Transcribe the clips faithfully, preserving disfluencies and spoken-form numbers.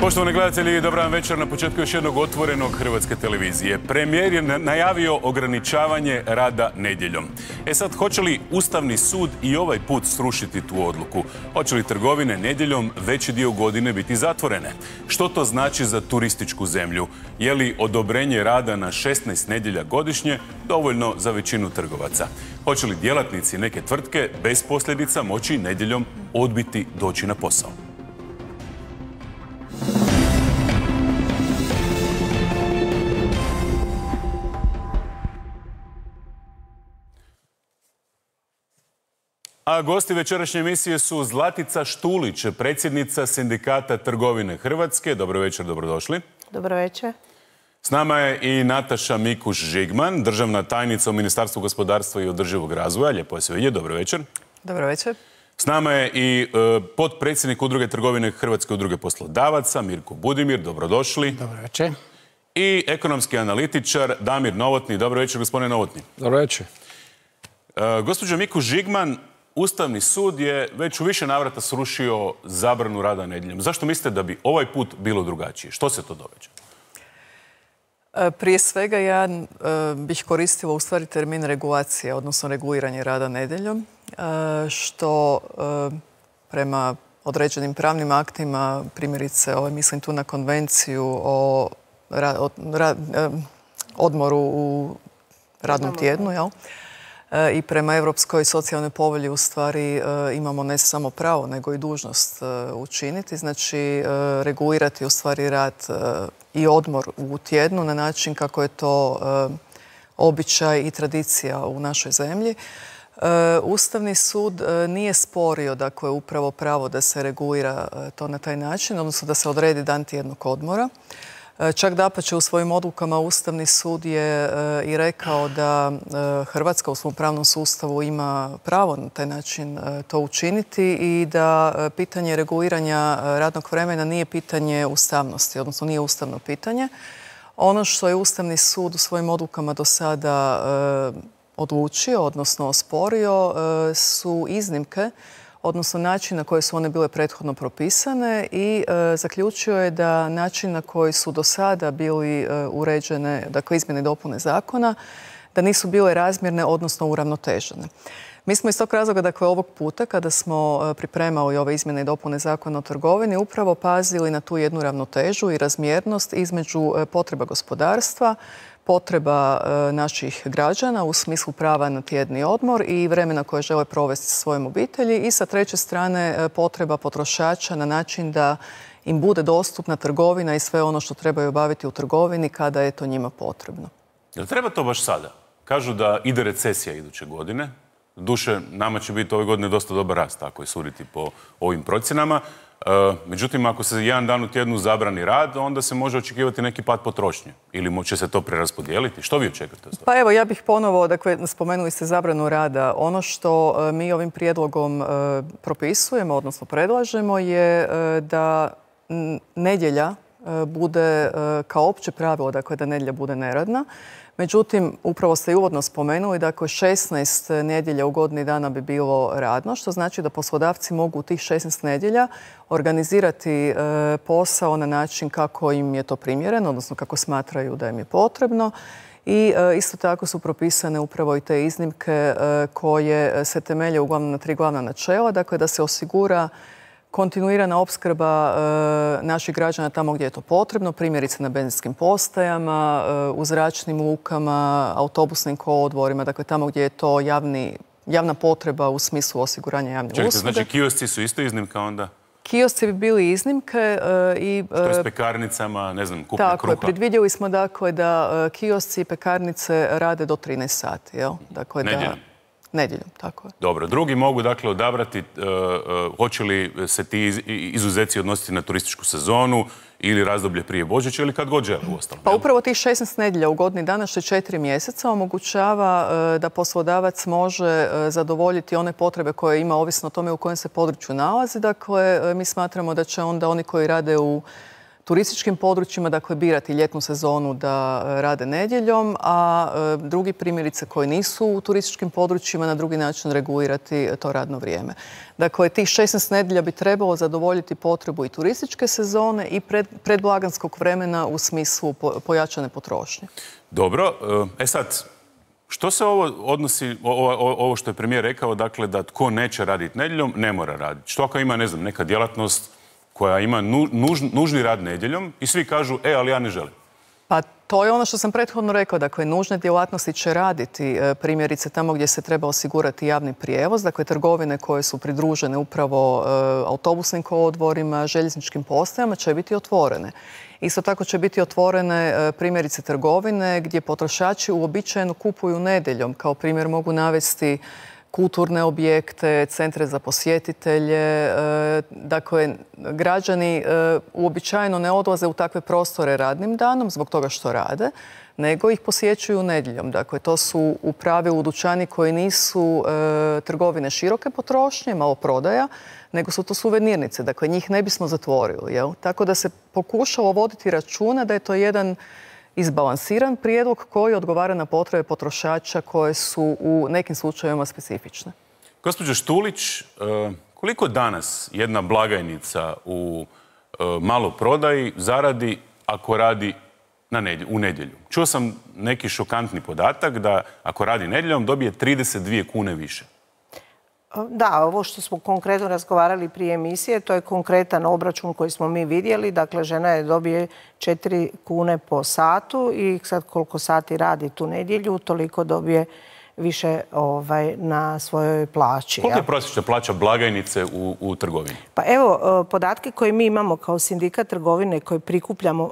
Poštovani gledatelji, dobar vam večer na početku još jednog otvorenog Hrvatske televizije. Premijer je najavio ograničavanje rada nedjeljom. E sad, hoće li Ustavni sud i ovaj put srušiti tu odluku? Hoće li trgovine nedjeljom veći dio godine biti zatvorene? Što to znači za turističku zemlju? Je li odobrenje rada na šesnaest nedjelja godišnje dovoljno za većinu trgovaca? Hoće li djelatnici neke tvrtke bez posljedica moći nedjeljom odbiti doći na posao? A gosti večerašnje emisije su Zlatica Štulić, predsjednica Sindikata trgovine Hrvatske. Dobro večer, dobrodošli. Dobro večer. S nama je i Nataša Mikuš-Žigman, državna tajnica u Ministarstvu gospodarstva i održivog razvoja. Lijepo je sve vidjeti. Dobro večer. Dobro večer. S nama je i e, potpredsjednik Udruge trgovine Hrvatske udruge poslodavaca, Mirko Budimir. Dobrodošli. Dobro večer. I ekonomski analitičar Damir Novotny. Dobro večer, gospodine Novotny. Dobro večer. E, gospođo Mikuš-Žigman, Ustavni sud je već u više navrata srušio zabranu rada nedjeljom. Zašto mislite da bi ovaj put bilo drugačije? Što se to događa? Prije svega ja bih koristila u stvari termin regulacije, odnosno reguliranje rada nedjeljom, što prema određenim pravnim aktima, primjerice mislim tu na konvenciju o odmoru u radnom tjednu, jel? I prema Europskoj socijalnoj povelji u stvari imamo ne samo pravo, nego i dužnost učiniti. Znači, regulirati u stvari rad i odmor u tjednu na način kako je to običaj i tradicija u našoj zemlji. Ustavni sud nije sporio, dakle, upravo pravo da se regulira to na taj način, odnosno da se odredi dan tjednog odmora. Čak dapače, u svojim odlukama Ustavni sud je i rekao da Hrvatska u svom pravnom sustavu ima pravo na taj način to učiniti i da pitanje reguliranja radnog vremena nije pitanje ustavnosti, odnosno nije ustavno pitanje. Ono što je Ustavni sud u svojim odlukama do sada odlučio, odnosno osporio, su iznimke, odnosno način na koji su one bile prethodno propisane i e, zaključio je da način na koji su do sada bili e, uređene, dakle izmjene i dopune zakona, da nisu bile razmjerne, odnosno uravnotežene. Mi smo iz tog razloga, dakle, ovog puta, kada smo pripremali ove izmjene i dopune zakona o trgovini, upravo pazili na tu jednu ravnotežu i razmjernost između potreba gospodarstva, potreba naših građana u smislu prava na tjedni odmor i vremena koje žele provesti sa svojim obitelji i sa treće strane potreba potrošača na način da im bude dostupna trgovina i sve ono što trebaju obaviti u trgovini kada je to njima potrebno. Jel treba to baš sada? Kažu da ide recesija iduće godine. Duše, nama će biti ove godine dosta dobar rast, ako je suditi po ovim procjenama. Međutim, ako se jedan dan u tjednu zabrani rad, onda se može očekivati neki pad potrošnje. Ili će se to preraspodijeliti? Što vi očekujete? Pa evo, ja bih ponovo, dakle, spomenuli ste zabranu rada. Ono što mi ovim prijedlogom propisujemo, odnosno predlažemo, je da nedjelja bude kao opće pravilo, dakle, da nedjelja bude neradna. Međutim, upravo ste i uvodno spomenuli, dakle, šesnaest nedjelja u godini dana bi bilo radno, što znači da poslodavci mogu u tih šesnaest nedjelja organizirati posao na način kako im je to primjereno, odnosno kako smatraju da im je potrebno. I isto tako su propisane upravo i te iznimke koje se temelje uglavnom na tri glavna načela, dakle, da se osigura kontinuirana opskrba e, naših građana tamo gdje je to potrebno, primjerice na benzinskim postajama, e, u zračnim lukama, autobusnim kolodvorima, dakle tamo gdje je to javni, javna potreba u smislu osiguranja javne usluge. Čekajte, znači kiosci su isto iznimka onda? Kiosci bi bili iznimke e, i... Što je s pekarnicama, ne znam, kupnje kruha? Tako je, predvidjeli smo dakle da e, kiosci i pekarnice rade do trinaest sati, jel? Dakle, nedjeljom? Nedjeljom, tako je. Dobro. Drugi mogu, dakle, odabrati uh, uh, hoće li se ti iz, izuzeci odnositi na turističku sezonu ili razdoblje prije Božića ili kad god žele u ostalom. Pa upravo tih šesnaest nedjelja u godini dana, što je četiri mjeseca, omogućava uh, da poslodavac može uh, zadovoljiti one potrebe koje ima ovisno o tome u kojem se području nalazi. Dakle, uh, mi smatramo da će onda oni koji rade u turističkim područjima, dakle birati ljetnu sezonu da rade nedjeljom, a drugi primjerice koji nisu u turističkim područjima na drugi način regulirati to radno vrijeme. Dakle, tih šesnaest nedjelja bi trebalo zadovoljiti potrebu i turističke sezone i pred, predblagdanskog vremena u smislu pojačane potrošnje. Dobro, e sad, što se ovo odnosi, ovo, ovo što je premijer rekao, dakle da tko neće raditi nedjeljom, ne mora raditi. Što ako ima, ne znam, neka djelatnost koja ima nuž, nužni rad nedjeljom i svi kažu, e, ali ja ne želim. Pa to je ono što sam prethodno rekao. Dakle, nužne djelatnosti će raditi primjerice tamo gdje se treba osigurati javni prijevoz. Dakle, trgovine koje su pridružene upravo autobusnim kolodvorima, željezničkim postajama će biti otvorene. Isto tako će biti otvorene primjerice trgovine gdje potrošači uobičajeno kupuju nedjeljom. Kao primjer mogu navesti kulturne objekte, centre za posjetitelje. Dakle, građani uobičajeno ne odlaze u takve prostore radnim danom zbog toga što rade, nego ih posjećuju nedjeljom. Dakle, to su u pravilu dućani koji nisu trgovine široke potrošnje, maloprodaja, nego su to suvenirnice. Dakle, njih ne bismo zatvorili. Jel? Tako da se pokušalo voditi računa da je to jedan izbalansiran prijedlog koji odgovara na potrebe potrošača koje su u nekim slučajevima specifične. Gospođo Štulić, koliko danas jedna blagajnica u maloprodaji zaradi ako radi na nedjelju, u nedjelju? Čuo sam neki šokantni podatak da ako radi nedjeljom dobije trideset dvije kune više. Da, ovo što smo konkretno razgovarali prije emisije, to je konkretan obračun koji smo mi vidjeli. Dakle, žena je dobije četiri kune po satu i sad koliko sati radi tu nedjelju, toliko dobije više ovaj, na svojoj plaći. Koliko je prosječna plaća blagajnice u, u trgovini? Pa evo, podatke koje mi imamo kao sindikat trgovine koje prikupljamo,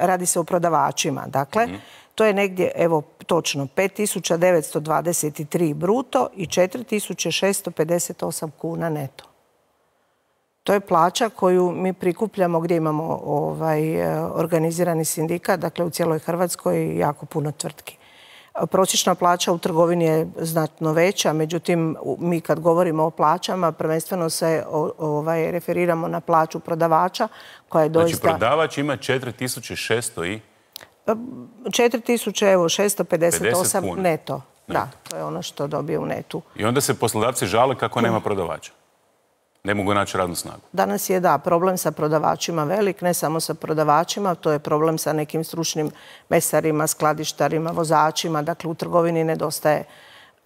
radi se o prodavačima. Dakle, mm. to je negdje, evo, točno pet tisuća devetsto dvadeset tri bruto i četiri tisuće šesto pedeset osam kuna neto. To je plaća koju mi prikupljamo gdje imamo ovaj, organizirani sindikat, dakle u cijeloj Hrvatskoj jako puno tvrtki. Prosječna plaća u trgovini je znatno veća, međutim, mi kad govorimo o plaćama, prvenstveno se ovaj, referiramo na plaću prodavača, koja je doista... Znači, prodavač ima četiri tisuće šesto i... četiri tisuće šesto pedeset osam neto. Da, to je ono što dobije u netu. I onda se poslodavci žale kako nema prodavača. Ne mogu naći radnu snagu. Danas je, da, problem sa prodavačima velik, ne samo sa prodavačima, to je problem sa nekim stručnim mesarima, skladištarima, vozačima. Dakle, u trgovini nedostaje,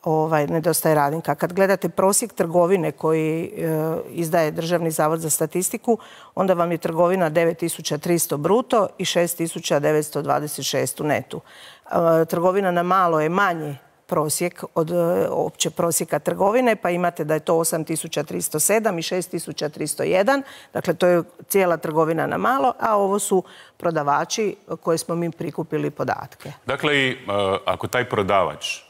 ovaj, nedostaje radnika. Kad gledate prosjek trgovine koji e, izdaje Državni zavod za statistiku, onda vam je trgovina devet tisuća tristo bruto i šest tisuća devetsto dvadeset šest u netu. E, trgovina na malo je manji prosjek od opće prosjeka trgovine, pa imate da je to osam tisuća tristo sedam i šest tisuća tristo jedan. Dakle, to je cijela trgovina na malo, a ovo su prodavači koje smo mi prikupili podatke. Dakle, ako taj prodavač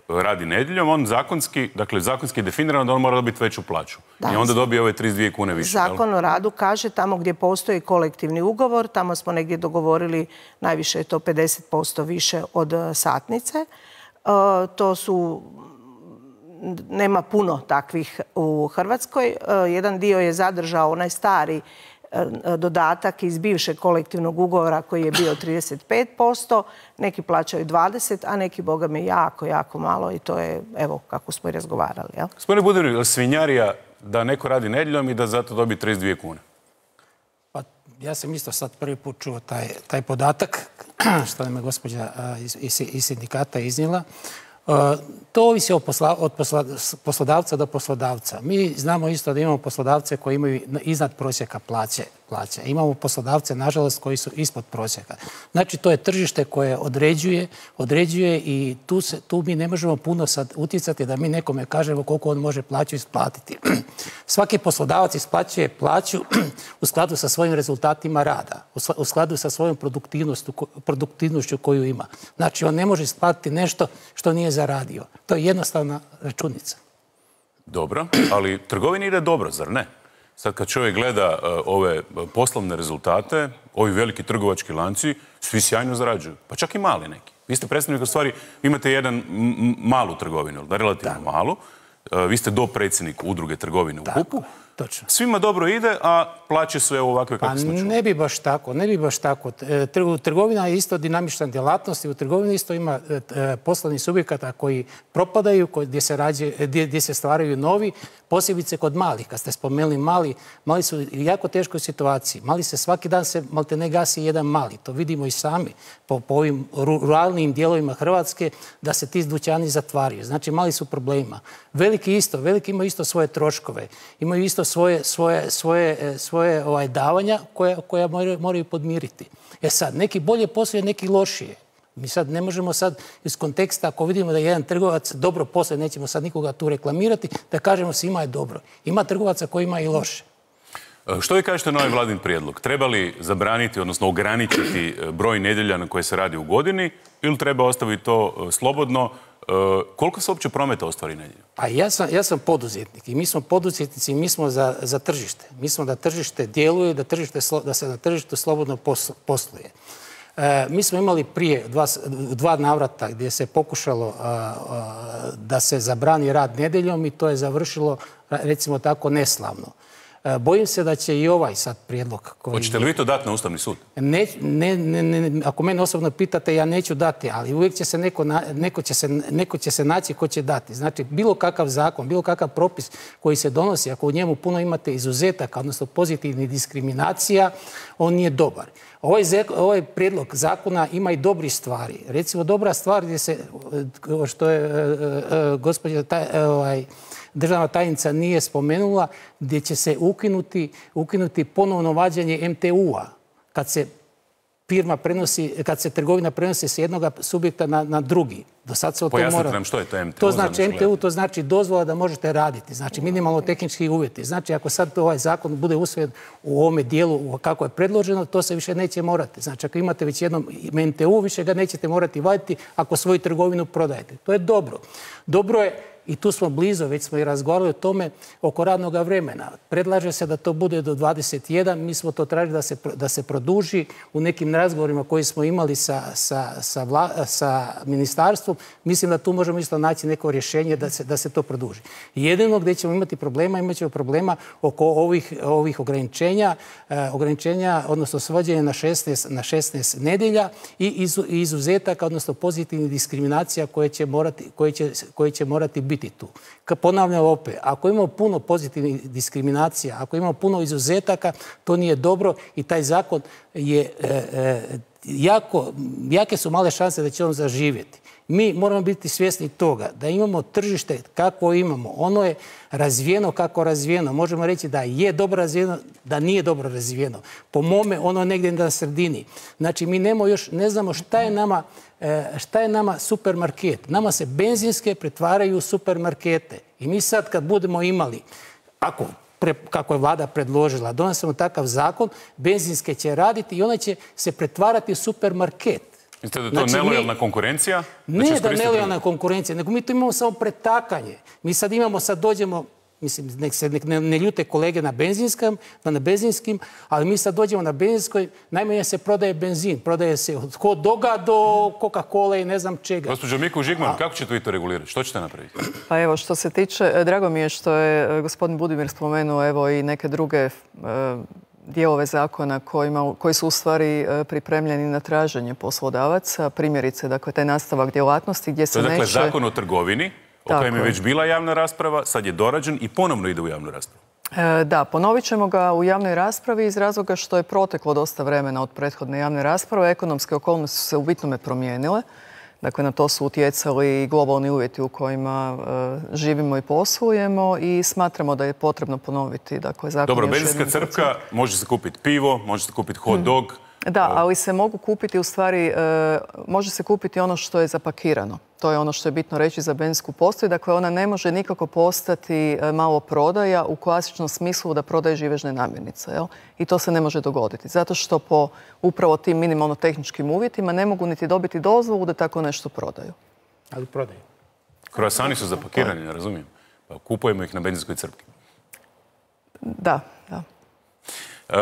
radi nedjeljom, on zakonski, dakle, zakonski je definirano da on mora dobiti veću plaću. Da, i onda dobije ove trideset dvije kune više. Zakon o radu kaže tamo gdje postoji kolektivni ugovor, tamo smo negdje dogovorili najviše je to pedeset posto više od satnice. Uh, to su, nema puno takvih u Hrvatskoj. Uh, jedan dio je zadržao onaj stari uh, dodatak iz bivšeg kolektivnog ugovora koji je bio trideset pet posto. Neki plaćaju dvadeset, a neki, boga mi, jako, jako malo i to je, evo, kako smo i razgovarali. Ja? Gospodine Budimir, svinjarija da neko radi nedjeljom i da zato dobi trideset dvije kune? Pa, ja sam isto sad prvi put čuo taj, taj podatak što nam je gospođa iz, iz, iz sindikata iznijela. To ovisi od, posla, od posla, poslodavca do poslodavca. Mi znamo isto da imamo poslodavce koji imaju iznad prosjeka plaće. plaće. Imamo poslodavce, nažalost, koji su ispod prosjeka. Znači, to je tržište koje određuje, određuje i tu, se, tu mi ne možemo puno sad utjecati da mi nekome kažemo koliko on može plaću isplatiti. Svaki poslodavac isplaćuje plaću u skladu sa svojim rezultatima rada, u skladu sa svojom produktivnošću koju ima. Znači, on ne može isplatiti nešto što nije zaradio. To je jednostavna računica. Dobro, ali trgovini ide dobro, zar ne? Sad kad čovjek gleda uh, ove poslovne rezultate, ovi veliki trgovački lanci, svi sjajno zarađuju. Pa čak i mali neki. Vi ste predstavnik, u stvari, imate jedan malu trgovinu, relativno da. malu. Uh, vi ste dopredsjednik udruge trgovine u H U P-u. Točno. Svima dobro ide, a plaće su evo ovakve kako smo čuli. Ne bi baš tako, ne bi baš tako. Trgovina je isto dinamična djelatnost i u trgovini isto ima poslovnih subjekata koji propadaju, gdje se, rađe, gdje, gdje se stvaraju novi, posebice kod malih. Kad ste spomenuli mali, mali su u jako teškoj situaciji. Mali se svaki dan se maltene gasi jedan mali. To vidimo i sami po, po ovim ruralnim dijelovima Hrvatske da se ti dućani zatvaraju. Znači mali su problema. Veliki isto, veliki imaju isto svoje troškove. Imaju isto svoje, svoje, svoje, svoje ovaj, davanja koja, koja moraju, moraju podmiriti. E sad, neki bolje posluje, neki lošije. Mi sad ne možemo sad iz konteksta, ako vidimo da je jedan trgovac dobro posluje, nećemo sad nikoga tu reklamirati, da kažemo svima je dobro. Ima trgovaca koji ima i loše. Što vi kažete na ovaj vladin prijedlog? Treba li zabraniti, odnosno ograničiti broj nedjelja na koje se radi u godini ili treba ostaviti to slobodno? Koliko se uopće prometa ostvari nedjeljom? A ja sam, ja sam poduzetnik i mi smo poduzetnici i mi smo za, za tržište. Mi smo da tržište djeluje, da, tržište, da se na tržištu slobodno posluje. E, mi smo imali prije dva, dva navrata gdje se pokušalo a, a, da se zabrani rad nedjeljom i to je završilo, recimo tako, neslavno. E, bojim se da će i ovaj sad prijedlog... Koji... Hoćete li vi to dati na Ustavni sud? Ne, ne, ne, ne, ako mene osobno pitate, ja neću dati, ali uvijek će se neko, neko, će se, neko će se naći ko će dati. Znači, bilo kakav zakon, bilo kakav propis koji se donosi, ako u njemu puno imate izuzetaka, odnosno pozitivnih diskriminacija, on nije dobar. Ovaj, ovaj prijedlog zakona ima i dobri stvari. Recimo, dobra stvar gdje se, što je uh, uh, gospođa taj, uh, ovaj, državna tajnica nije spomenula, gdje će se ukinuti, ukinuti ponovno vađenje em te u-a. Kad se firma prenosi, kad se trgovina prenosi s jednog subjekta na, na drugi. Do sad se o to mora... Pojasnite nam što je to em te u. To znači em te u, to znači dozvola da možete raditi. Znači minimalno tehnički uvjeti. Znači ako sad ovaj zakon bude usvojen u ovome dijelu kako je predloženo, to se više neće morati. Znači ako imate već jednom em te u, više ga nećete morati vaditi ako svoju trgovinu prodajete. To je dobro. Dobro je, i tu smo blizu, već smo i razgovarali o tome, oko radnog vremena. Predlaže se da to bude do dvadeset jedan, mi smo to tražili da se, da se produži. U nekim razgovorima koji smo imali sa, sa, sa, vla, sa ministarstvom, mislim da tu možemo isto naći neko rješenje da se, da se to produži. Jedino gdje ćemo imati problema, imat ćemo problema oko ovih, ovih ograničenja, eh, ograničenja, odnosno svođenja na šesnaest, na šesnaest nedjelja i izu, izuzetaka, odnosno pozitivnih diskriminacija koje će morati, koje će, koje će morati biti tu. Ponavljam opet, ako imamo puno pozitivnih diskriminacija, ako imamo puno izuzetaka, to nije dobro i taj zakon je e, e, jako, jake su male šanse da će on zaživjeti. Mi moramo biti svjesni toga da imamo tržište kako imamo. Ono je razvijeno kako razvijeno. Možemo reći da je dobro razvijeno, da nije dobro razvijeno. Po mome, ono je negdje na sredini. Znači, mi nemo još, ne znamo šta je nama, šta je nama supermarket. Nama se benzinske pretvaraju u supermarkete. I mi sad kad budemo imali, ako Pre, kako je vlada predložila, donosimo takav zakon, benzinske će raditi i one će se pretvarati u supermarket. Mislite da je to znači, nelojalna mi, konkurencija? Ne da, da je nelojalna konkurencija, nego mi to imamo samo pretakanje. Mi sad imamo, sad dođemo, mislim, nek se nek ne, ne ljute kolege na benzinskom, na benzinskim, ali mi sad dođemo na benzinskoj, najmanje se prodaje benzin, prodaje se od hot doga do Coca-Cola i ne znam čega. Gospođo Miku Žigman, kako ćete vi to regulirati? Što ćete napraviti? Pa evo, što se tiče, drago mi je što je gospodin Budimir spomenuo evo i neke druge e, dijelove zakona kojima, koji su u stvari pripremljeni na traženje poslodavaca. Primjerice, dakle, taj nastavak djelatnosti gdje se neće... To je dakle zakon o trgovini, o kojem je već bila javna rasprava, sad je dorađen i ponovno ide u javnu raspravu. E, da, ponovit ćemo ga u javnoj raspravi iz razloga što je proteklo dosta vremena od prethodne javne rasprave. Ekonomske okolnosti su se u bitnome promijenile. Dakle, na to su utjecali i globalni uvjeti u kojima e, živimo i poslujemo i smatramo da je potrebno ponoviti. Dakle, zakon Dobro, benzinska crpka, može se kupiti pivo, može se kupiti hot dog. Hmm. Da, ali se mogu kupiti u stvari, e, može se kupiti ono što je zapakirano. To je ono što je bitno reći za benzinsku postaju. Dakle, ona ne može nikako postati malo prodaja u klasičnom smislu da prodaje živežne namirnice. Jel? I to se ne može dogoditi. Zato što po upravo tim minimalno tehničkim uvjetima ne mogu niti dobiti dozvolu da tako nešto prodaju. Ali prodaju. Kroasani su zapakirani, ne razumijem. Pa kupujemo ih na benzinskoj crpki. Da, da. Uh,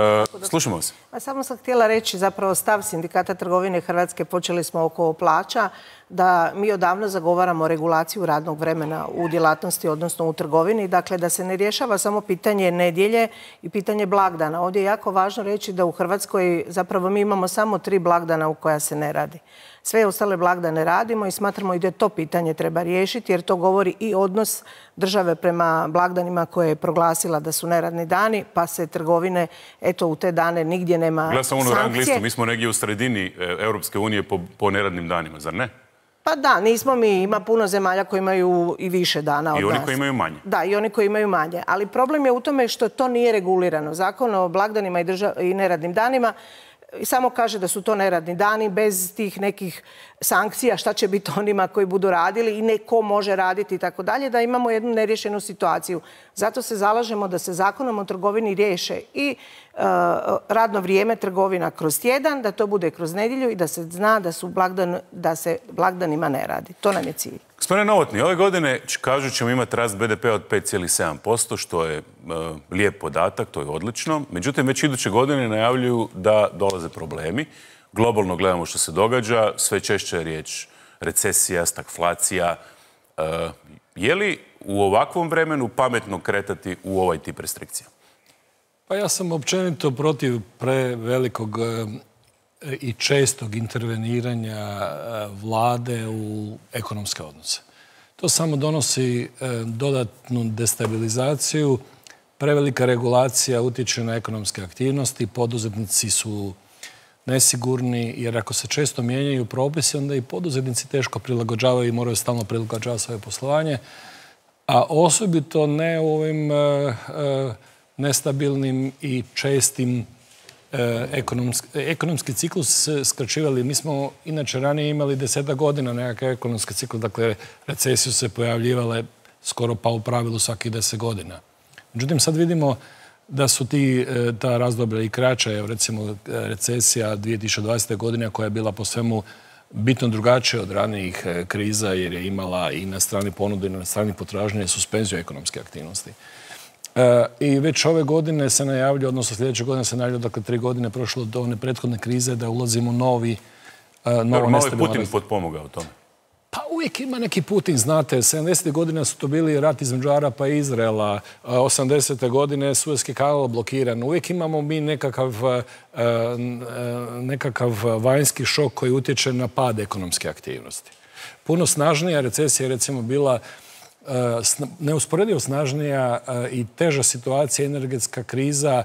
slušamo se. A samo sam htjela reći zapravo stav Sindikata trgovine Hrvatske, počeli smo oko plaća. da mi odavno zagovaramo regulaciju radnog vremena u djelatnosti, odnosno u trgovini. Dakle, da se ne rješava samo pitanje nedjelje i pitanje blagdana. Ovdje je jako važno reći da u Hrvatskoj zapravo mi imamo samo tri blagdana u koja se ne radi. Sve ostale blagdane radimo i smatramo i da to pitanje treba riješiti, jer to govori i odnos države prema blagdanima koje je proglasila da su neradni dani, pa se trgovine, eto, u te dane nigdje nema sankcije. Gledam ono rang listu, mi smo negdje u sredini Europske unije po, po neradnim danima, zar ne? Pa da, nismo mi, ima puno zemalja koji imaju i više dana od nas. I oni koji imaju manje. Da, i oni koji imaju manje. Ali problem je u tome što to nije regulirano. Zakon o blagdanima i, držav... i neradnim danima samo kaže da su to neradni dani bez tih nekih sankcija, šta će biti onima koji budu radili i neko može raditi i tako dalje, da imamo jednu nerješenu situaciju. Zato se zalažemo da se zakonom o trgovini riješe i uh, radno vrijeme trgovina kroz tjedan, da to bude kroz nedjelju i da se zna da, su blagdan, da se blagdanima ne radi. To nam je cilj. Gospodine Novotny, ove godine kažu ćemo imati rast be de pe od pet zarez sedam posto, što je uh, lijep podatak, to je odlično. Međutim, već iduće godine najavljuju da dolaze problemi. Globalno gledamo što se događa, sve češće je riječ recesija, stagflacija. Uh, je li u ovakvom vremenu pametno kretati u ovaj tip restrikcija? Pa ja sam općenito protiv prevelikog i čestog interveniranja vlade u ekonomske odnose. To samo donosi dodatnu destabilizaciju, prevelika regulacija utječe na ekonomske aktivnosti, poduzetnici su nesigurni, jer ako se često mijenjaju propisi, onda i poduzetnici teško prilagođavaju i moraju stalno prilagođavati svoje poslovanje, a osobito ne u ovim uh, uh, nestabilnim i čestim Ekonomski, ekonomski ciklus se skraćivali. Mi smo inače ranije imali deseta godina nekakav ekonomski ciklus, dakle recesije se pojavljivale skoro pa u pravilu svakih deset godina. Međutim, sad vidimo da su ti, ta razdoblja i kraća, evo recimo recesija dvije tisuće dvadesete. godine koja je bila po svemu bitno drugačija od ranijih kriza jer je imala i na strani ponude i na strani potražnje suspenziju ekonomske aktivnosti. I već ove godine se najavlja, odnosno sljedeće godine se najavlja, dakle tri godine prošlo do one prethodne krize, da ulazimo u novi, novo nestabilno. Malo je Putin potpomogao tome. Pa uvijek ima neki Putin, znate. sedamdesetih godina su to bili rat između Arapa i Izraela. osamdesete godine Suezki kanal blokiran. Uvijek imamo mi nekakav, nekakav vanjski šok koji utječe na pad ekonomske aktivnosti. Puno snažnija recesija je recimo bila neusporedivo snažnija i teža situacija, energetska kriza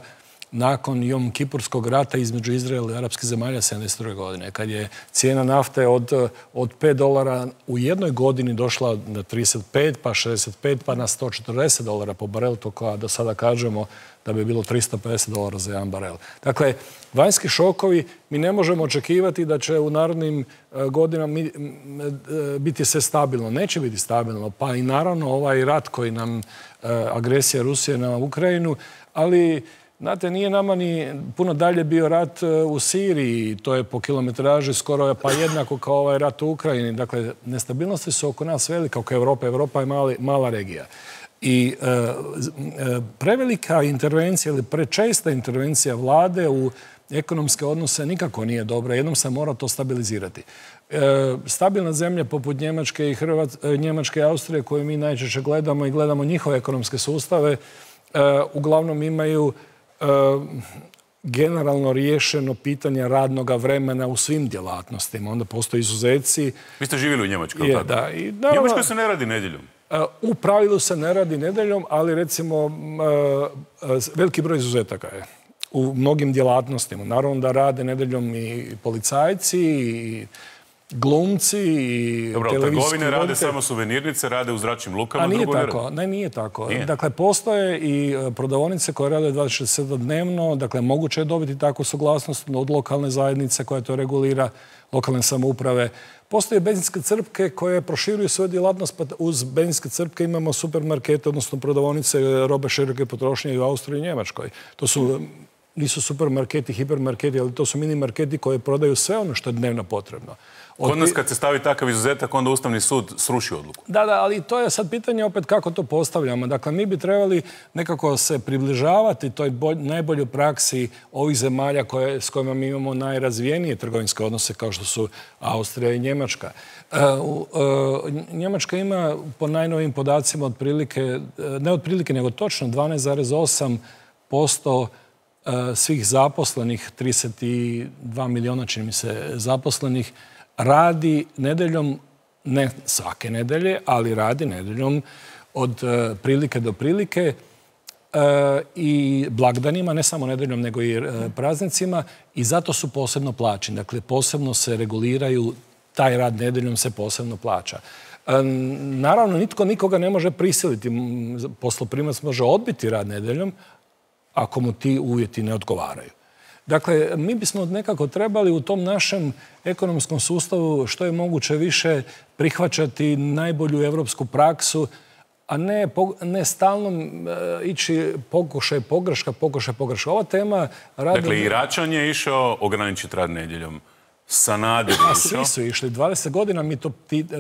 nakon Jom Kipurskog rata između Izraela i arapskih zemalja sedamdeset druge. godine, kad je cijena nafte od, od pet dolara u jednoj godini došla na trideset pet, pa šezdeset pet, pa na sto četrdeset dolara po barelu, to koja do sada kažemo da bi bilo tristo pedeset dolara za jedan barel. Dakle, vanjski šokovi, mi ne možemo očekivati da će u narednim godinama biti sve stabilno. Neće biti stabilno, pa i naravno ovaj rat koji nam, agresija Rusije na Ukrajinu, ali znate, nije nama ni puno dalje bio rat u Siriji, to je po kilometraži skoro pa jednako kao ovaj rat u Ukrajini. Dakle, nestabilnosti su oko nas velika, oko Evrope. Evropa je mali, mala regija. I e, e, prevelika intervencija ili prečesta intervencija vlade u ekonomske odnose nikako nije dobra. Jednom se mora to stabilizirati. E, stabilna zemlja poput Njemačke i Hrvat, Njemačke i Austrije, koju mi najčešće gledamo i gledamo njihove ekonomske sustave, e, uglavnom imaju e, generalno riješeno pitanje radnog vremena u svim djelatnostima. Onda postoje izuzeci. Vi ste živjeli u Njemačkoj, je, da. I, naravno, Njemačkoj se ne radi nedjeljom. U pravilu se ne radi nedjeljom, ali recimo veliki broj izuzetaka je u mnogim djelatnostima. Naravno da rade nedjeljom i policajci, i glumci, i Dobro, trgovine rade samo suvenirnice, rade u zračnim lukama. A nije tako. Ne, nije tako. Nije. Dakle, postoje i prodavaonice koje rade dvadeset sedam dnevno. Dakle, moguće je dobiti takvu suglasnost od lokalne zajednice koja to regulira, lokalne samouprave. Postoje benzinske crpke koje proširuju svoju djelatnost, pa uz benzinske crpke imamo supermarkete, odnosno prodavaonice robe široke potrošnje i u Austriji i Njemačkoj. To su nisu supermarketi, hipermarketi, ali to su mini marketi koji prodaju sve ono što je dnevno potrebno. Kod nas kad se stavi takav izuzetak, onda Ustavni sud sruši odluku. Da, da, ali to je sad pitanje opet kako to postavljamo. Dakle, mi bi trebali nekako se približavati toj najboljoj praksi ovih zemalja koje, s kojima mi imamo najrazvijenije trgovinske odnose, kao što su Austrija i Njemačka. E, u, e, Njemačka ima po najnovim podacima otprilike, ne otprilike, nego točno dvanaest zarez osam posto svih zaposlenih, trideset dva miliona, čini mi se, zaposlenih, radi nedeljom, ne svake nedelje, ali radi nedeljom od e, prilike do prilike e, i blagdanima, ne samo nedeljom, nego i e, praznicima, i zato su posebno plaćeni. Dakle, posebno se reguliraju, taj rad nedeljom se posebno plaća. E, naravno, nitko nikoga ne može prisiliti. Posloprimac može odbiti rad nedeljom ako mu ti uvjeti ne odgovaraju. Dakle, mi bismo nekako trebali u tom našem ekonomskom sustavu što je moguće više prihvaćati najbolju evropsku praksu, a ne, ne stalno e, ići pokušaj pogreška, pokušaj pogreška. Ova tema... Radi... Dakle, i Račan je išao ograničiti rad nedjeljom. Sanader je išao. Svi su išli. dvadeset godina mi to,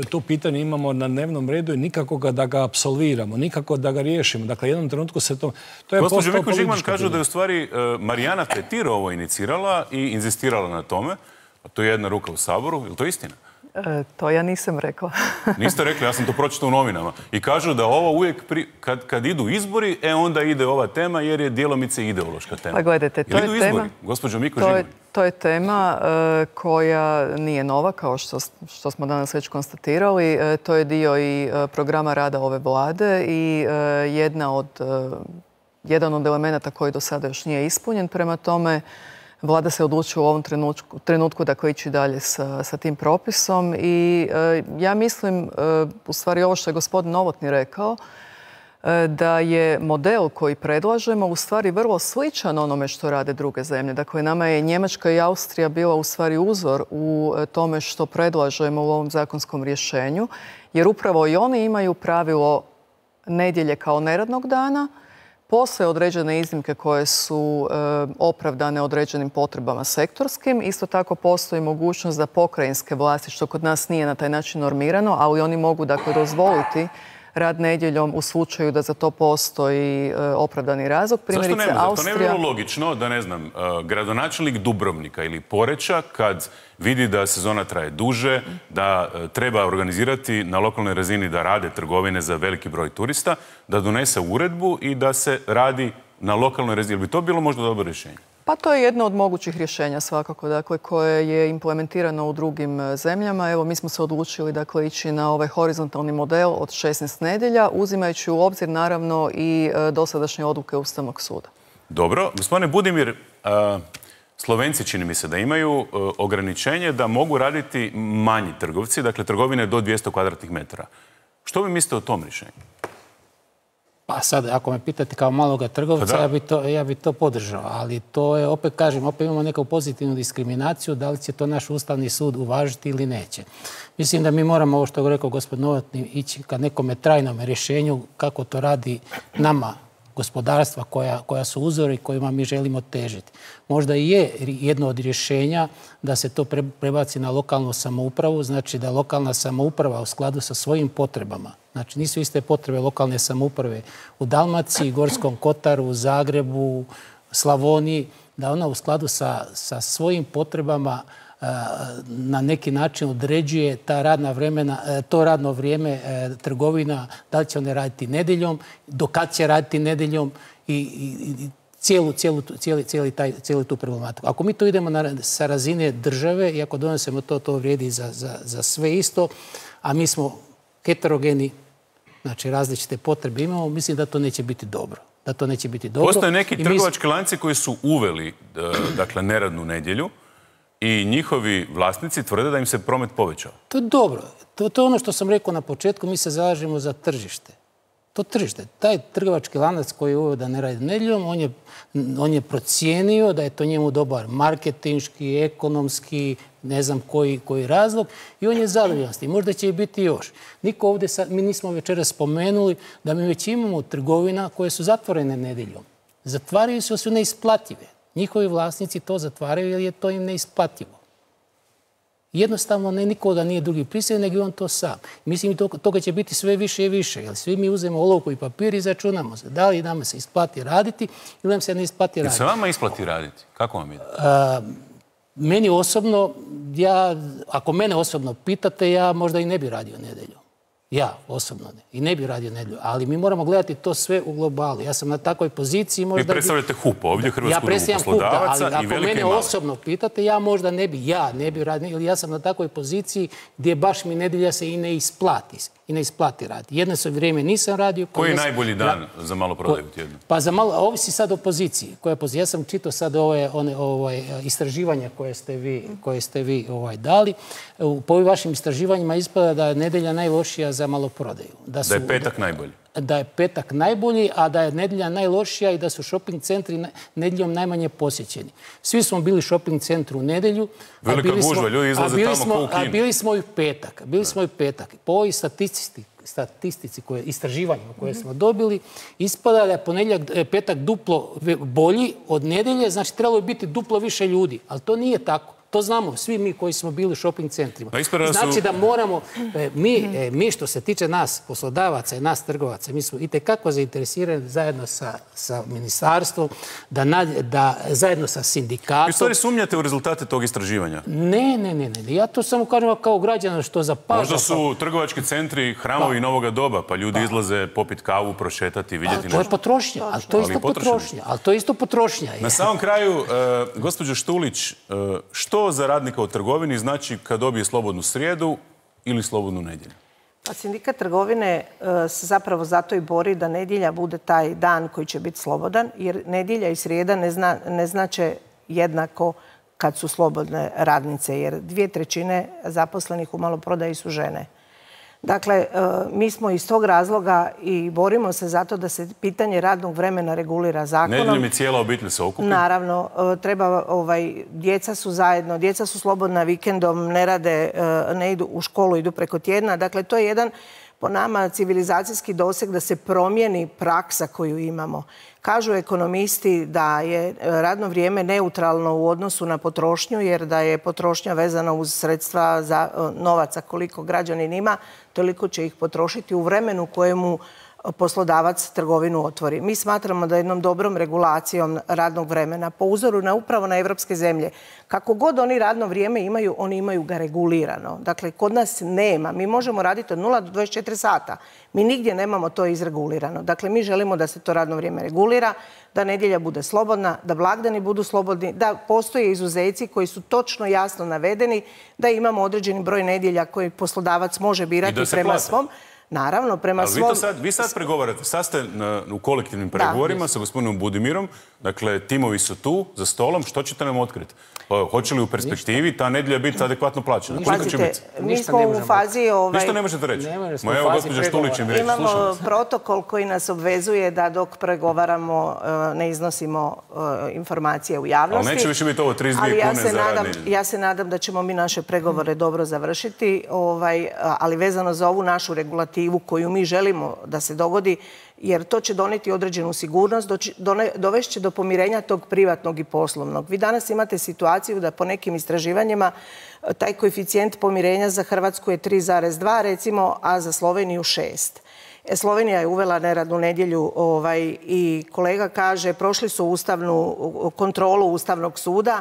to pitanje imamo na dnevnom redu i nikako ga da ga apsolviramo, nikako da ga riješimo. Dakle, jednom trenutku se to... to je Gospođo Mikuš-Žigman kažu da je u stvari Marijana Petir ovo inicirala i inzistirala na tome. A to je jedna ruka u Saboru. Je li to istina? E, to ja nisam rekla. Niste rekli, ja sam to pročitao u novinama. I kažu da ovo uvijek, pri, kad, kad idu izbori, e onda ide ova tema jer je djelomice ideološka tema. Pa gledajte, to je, je tema... Gospođo Mikuš-Žigman? To je tema e, koja nije nova, kao što, što smo danas već konstatirali. E, to je dio i e, programa rada ove vlade i e, jedna od, e, jedan od elemenata koji do sada još nije ispunjen. Prema tome, vlada se odlučila u ovom trenutku, trenutku dakle, ići dalje sa, sa tim propisom i e, ja mislim, e, u stvari ovo što je gospodin Novotny rekao, e, da je model koji predlažemo u stvari vrlo sličan onome što rade druge zemlje. Dakle, nama je Njemačka i Austrija bila u stvari uzor u tome što predlažemo u ovom zakonskom rješenju, jer upravo i oni imaju pravilo nedjelje kao neradnog dana. Postoje određene iznimke koje su e, opravdane određenim potrebama sektorskim. Isto tako postoji mogućnost da pokrajinske vlasti, što kod nas nije na taj način normirano, ali oni mogu dakle dozvoliti rad nedjeljom u slučaju da za to postoji e, opravdani razlog. Primjerice, zašto ne može? Austrija... To ne je vrlo logično da, ne znam, gradonačelnik Dubrovnika ili Poreča, kad vidi da sezona traje duže, da treba organizirati na lokalnoj razini da rade trgovine za veliki broj turista, da donese uredbu i da se radi na lokalnoj razini. Bi to bilo možda dobro rješenje? Pa to je jedno od mogućih rješenja svakako, dakle, koje je implementirano u drugim zemljama. Evo, mi smo se odlučili dakle, ići na ovaj horizontalni model od šesnaest nedjelja, uzimajući u obzir naravno i dosadašnje odluke Ustavnog suda. Dobro. Gospodine Budimir, a, Slovenci čini mi se da imaju a, ograničenje da mogu raditi manji trgovci, dakle trgovine do dvjesto kvadratnih metara. Što vi mislite o tom rješenju? Pa sad, ako me pitate kao maloga trgovca, ja bi, to, ja bi to podržao. Ali to je, opet kažem, opet imamo neku pozitivnu diskriminaciju, da li će to naš Ustavni sud uvažiti ili neće. Mislim da mi moramo, ovo što je rekao gospodin Novotny, ići ka nekome trajnom rješenju kako to radi nama, gospodarstva koja, koja su uzori kojima mi želimo težiti. Možda i je jedno od rješenja da se to prebaci na lokalnu samoupravu, znači da lokalna samouprava u skladu sa svojim potrebama, znači nisu iste potrebe lokalne samouprave u Dalmaciji, Gorskom Kotaru, Zagrebu, Slavoniji, da ona u skladu sa, sa svojim potrebama na neki način određuje ta radna vremena, to radno vrijeme trgovina, da li će one raditi nedjeljom, do kad će raditi nedjeljom i, i, i cijelu, cijelu, cijeli, cijeli, taj, cijelu tu problematiku. Ako mi to idemo na, sa razine države i ako donesemo to, to vrijedi za, za, za sve isto, a mi smo heterogeni, znači različite potrebe imamo, mislim da to neće biti dobro. Da to neće biti dobro. Postoje neki I trgovački mi... lanci koji su uveli dakle, neradnu nedjelju i njihovi vlasnici tvrde da im se promet povećao. To je dobro. To, to je ono što sam rekao na početku, mi se zalažemo za tržište. To tržište. Taj trgovački lanac koji je uveo da ne radi nedjeljom, on je, on je procijenio da je to njemu dobar marketinški, ekonomski, ne znam koji, koji razlog i on je zadovoljan s tim. Možda će i biti još. Niko ovdje, sad, mi nismo večeras spomenuli da mi već imamo trgovina koje su zatvorene nedjeljom. Zatvaraju se, su neisplative. Njihovi vlasnici to zatvaraju jer je to im neisplativo. Jednostavno ne nikoga nije drugi prisiljen, nego on to sam. Mislim i toga će biti sve više i više, jer svi mi uzmemo olovku i papir i začunamo se. Da li nama se isplati raditi ili nam se ne isplati raditi. Se vama isplati raditi? Kako vam ide? Meni osobno, ja, ako mene osobno pitate, ja možda i ne bi radio nedjelju. Ja, osobno ne. I ne bi radio nedjelju. Ali mi moramo gledati to sve u globalu. Ja sam na takvoj poziciji možda... Vi predstavljate H U P ovdje, Hrvatsku udrugu poslodavaca i velike i male. Ali ako mene osobno pitate, ja možda ne bi, ja ne bi radio, ili ja sam na takvoj poziciji gdje baš mi nedjelja se i ne isplati. I ne isplati raditi. Jedno se vrijeme nisam radio... Koji je najbolji dan za maloprodaju tjednu? Pa za malo, ovisi sad o poziciji. Koja pozicija? Ja sam čitao sad ove, one, ove, istraživanja koje ste vi, koje ste vi ovaj, dali. Po ovim vašim istraživanjima ispada da je nedjelja najlošija za maloprodaju. Da, su, da je petak najbolji. Da je petak najbolji, a da je nedjelja najlošija i da su shopping centri nedjeljom najmanje posjećeni. Svi smo bili shopping centru u nedjelju. Velika gužva, ljudi izlaze tamo smo, ko u kinu. A bili smo i petak. Bili smo i petak. Po ovoj statistici, statistici koje, istraživanjima koje smo dobili, ispada da je ponedjeljak, petak duplo bolji od nedjelje, znači trebalo je biti duplo više ljudi. Ali to nije tako. To znamo svi mi koji smo bili u shopping centrima. Znači da moramo, mi, mi što se tiče nas, poslodavaca i nas trgovaca, mi smo itekako zainteresirani zajedno sa, sa ministarstvom, da, da zajedno sa sindikatom... Vi stvari sumnjate u rezultate tog istraživanja? Ne, ne, ne, ne. Ja to samo kažem kao građana što zapaža. Možda su trgovački centri hramovi novoga doba, pa ljudi pa. izlaze popit kavu, prošetati, vidjeti nešto. To je potrošnja, ali to je isto potrošnja. Ali to je isto potrošnja. Na samom kraju, uh, gospođo Štulić, uh, što za radnika u trgovini znači kad dobije slobodnu srijedu ili slobodnu nedjelju? Pa sindikat trgovine se zapravo zato i bori da nedjelja bude taj dan koji će biti slobodan, jer nedjelja i srijeda ne, zna, ne znače jednako kad su slobodne radnice, jer dvije trećine zaposlenih u maloprodaji su žene. Dakle, mi smo iz tog razloga i borimo se zato da se pitanje radnog vremena regulira zakonom. Nedjeljom i cijela obitelj se okupi? Naravno, treba, ovaj, djeca su zajedno, djeca su slobodna vikendom, ne rade, ne idu u školu, idu preko tjedna. Dakle, to je jedan, po nama, civilizacijski doseg da se promijeni praksa koju imamo. Kažu ekonomisti da je radno vrijeme neutralno u odnosu na potrošnju, jer da je potrošnja vezana uz sredstva za novaca koliko građanin ima, toliko će ih potrošiti u vremenu kojemu poslodavac trgovinu otvori. Mi smatramo da jednom dobrom regulacijom radnog vremena, po uzoru na upravo na evropske zemlje, kako god oni radno vrijeme imaju, oni imaju ga regulirano. Dakle, kod nas nema. Mi možemo raditi od nula do dvadeset četiri sata. Mi nigdje nemamo to izregulirano. Dakle, mi želimo da se to radno vrijeme regulira, da nedjelja bude slobodna, da blagdani budu slobodni, da postoje izuzeci koji su točno jasno navedeni, da imamo određeni broj nedjelja koji poslodavac može birati prema svom. Naravno, prema svom... Vi, sad, vi sad pregovarate, sad ste na, u kolektivnim pregovorima da. sa gospodinom Budimirom, dakle, timovi su tu, za stolom, što ćete nam otkriti? Hoće li u perspektivi ta nedjelja biti adekvatno plaćena? Koliko će biti? Mi smo u fazi... Ovaj... Ništa ne možete reći? Ma evo, gospođa Štulić im reći. Imamo protokol koji nas obvezuje da dok pregovaramo ne iznosimo informacije u javnosti. Ali neće više biti ovo trideset dvije kune za rad nedjelju. Ja se nadam da ćemo mi naše pregovore dobro završiti, ovaj, ali vezano za ovu našu regulativu koju mi želimo da se dogodi, jer to će doneti određenu sigurnost, dovešće do pomirenja tog privatnog i poslovnog. Vi danas imate situaciju da po nekim istraživanjima taj koeficijent pomirenja za Hrvatsku je tri zarez dva, recimo, a za Sloveniju šest. Slovenija je uvela neradnu nedjelju ovaj, i kolega kaže prošli su ustavnu kontrolu Ustavnog suda,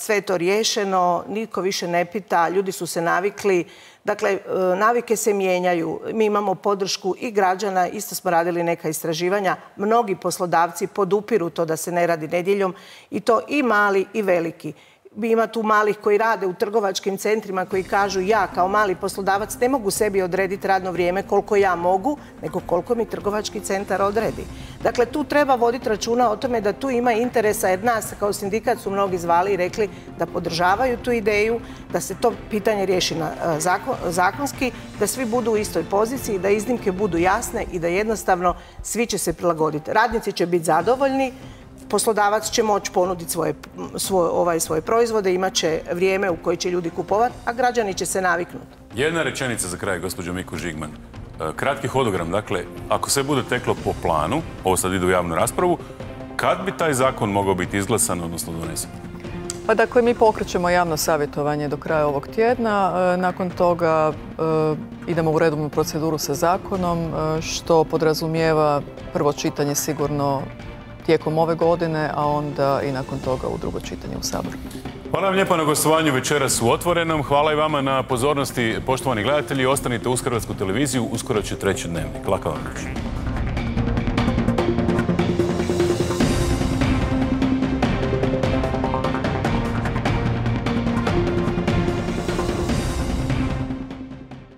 sve je to riješeno, niko više ne pita, ljudi su se navikli. Dakle, navike se mijenjaju. Mi imamo podršku i građana, isto smo radili neka istraživanja. Mnogi poslodavci podupiru to da se ne radi nedjeljom i to i mali i veliki. Ima tu malih koji rade u trgovačkim centrima koji kažu ja kao mali poslodavac ne mogu sebi odrediti radno vrijeme koliko ja mogu, nego koliko mi trgovački centar odredi. Dakle, tu treba voditi računa o tome da tu ima interesa, jer nas kao sindikat su mnogi zvali i rekli da podržavaju tu ideju, da se to pitanje riješi na zakon, zakonski, da svi budu u istoj poziciji, da iznimke budu jasne i da jednostavno svi će se prilagoditi. Radnici će biti zadovoljni, poslodavac će moći ponuditi svoje, svoje, ovaj, svoje proizvode, imat će vrijeme u koje će ljudi kupovati, a građani će se naviknuti. Jedna rečenica za kraj, gospođo Miku Žigman. Kratki hodogram, dakle, ako sve bude teklo po planu, ovo sad ide u javnu raspravu, kad bi taj zakon mogao biti izglasan, odnosno donesen? Pa dakle, mi pokrećemo javno savjetovanje do kraja ovog tjedna. Nakon toga idemo u redovnu proceduru sa zakonom, što podrazumijeva prvo čitanje sigurno tijekom ove godine, a onda i nakon toga u drugo čitanje u Saboru. Hvala vam lijepo na gostovanju večeras u Otvorenom. Hvala i vama na pozornosti, poštovani gledatelji. Ostanite uz Hrvatsku televiziju, uskoro će treći Dnevnik. Laka vam noć.